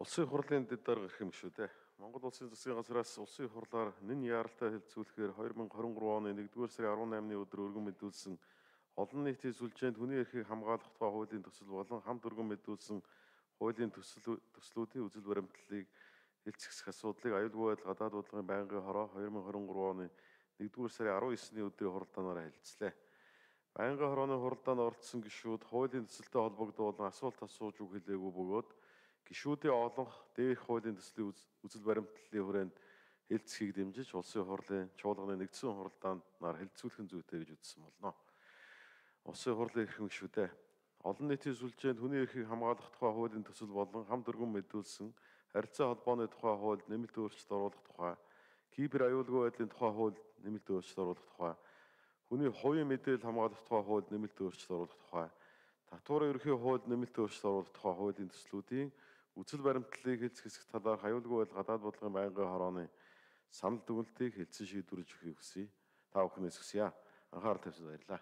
Улсын хурлын дэд дарга гэх юм шүү дээ. Монгол улсын засгийн газраас улсын хурлаар нэн яаралтай хэлэлцүүлэхээр 2023 оны 1-р сарын 18-ны өдөр өргөн мэдүүлсэн олон нийтийн сүлжээнд хүний эрхийг хамгаалах тухай хуулийн төсөл болон хамт өргөн мэдүүлсэн хуулийн төслүүдийн үзэл баримтлалыг хэлцэх асуудлыг аюулгүй байдал гадаад бодлогын байнгын хороо 2023 оны 1-р сарын 19-ний өдрийн хуралдаанаараа хэлэлцлээ. Байнгын хорооны хуралдаанд оролцсон гишүүд хуулийн төсөлтэй холбогдуулан асуулт асууж үг хэлээгүй бөгөөд гишүүдийн олонх дээрх хуулийн төслийн үзэл баримтлалын хүрээнд хэлцэхийг дэмжиж улсын хурлын чуулганы нэгдсэн хуралдаанаар хэлэлцүүлэх нь зүйтэй гэж үзсэн болно. Улсын хурлын эрхэм гишүүдээ олон нийтийн сүлжээнд хүний эрхийг хамгаалах тухай хуулийн төсөл болон хамт өргөн мэдүүлсэн харилцаа холбооны тухай хуульд нэмэлт өөрчлөлт оруулах тухай, кибер аюулгүй байдлын тухай хуульд нэмэлт өөрчлөлт оруулах тухай, хүний хувийн мэдээлэл хамгаалах тухай хуульд нэмэлт өөрчлөлт оруулах тухай, татварын ерөнхий хуульд нэмэлт өөрчлөлт оруулах тухай хуулийн төслүүдийн үзэл баримтлалыг хэлцэх хэсэг талаарх аюулгүй байдал гадаад бодлогын байнгын хорооны санал дүгнэлтийг хэлсэн шийдвэрлэж өгөхийг хүсье. Та бүхнээс хүсье. Анхаарал тавьсан баярлалаа.